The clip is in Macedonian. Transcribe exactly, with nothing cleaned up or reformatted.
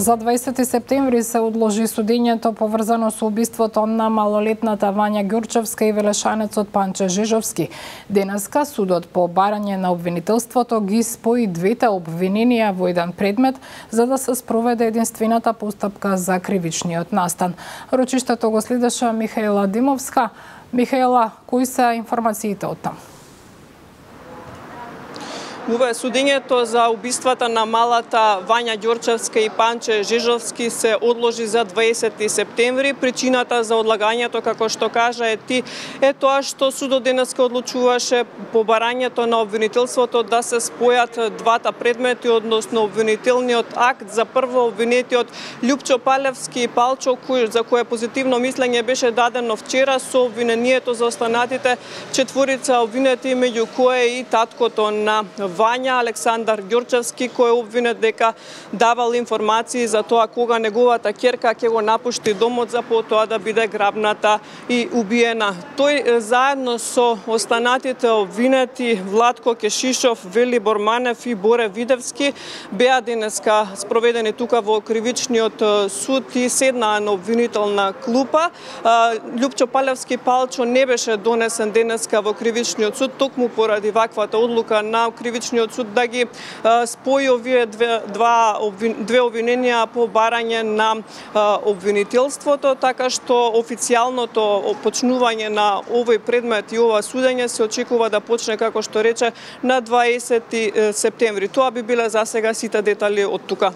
За дваесети септември се одложи судењето поврзано со убиството на малолетната Вања Ѓурчевска и велешанецот Панче Жижовски. Денеска судот по барање на обвинителството ги спои двете обвиненија во еден предмет за да се спроведе единствената постапка за кривичниот настан. Рочиштето го следеше Михаела Димовска. Михаела, кои се информациите од таму? Ова судењето за убиствата на малата Вања Ѓурчевска и Панче Жижовски се одложи за дваесети септември. Причината за одлагањето, како што кажа е ти, е тоа што судот денеска одлучуваше по барањето на обвинителството да се спојат двата предмети, односно обвинителниот акт за прво обвинетиот Љупчо Палевски и Палчо, кој за кое позитивно мислење беше дадено вчера, со обвинението за останатите четворица обвинети, меѓу кои и таткото на Вања, Александар Ѓурчевски, кој е обвинет дека давал информации за тоа кога неговата ќерка ќе го напушти домот за потоа да биде грабната и убиена. Тој заедно со останатите обвинети Владко Кешишов, Вели Борманев и Боре Видевски беа денеска спроведени тука во кривичниот суд и седнаа на обвинителна клупа. Љупчо Палевски Палчо не беше донесен денеска во кривичниот суд, токму поради ваквата одлука на кривичниот суд да ги спои овие две, два, две обвиненија по барање на обвинителството, така што официјалното почнување на овој предмет и ова судење се очекува да почне, како што рече, на дваесети септември. Тоа би биле за сега сите детали од тука.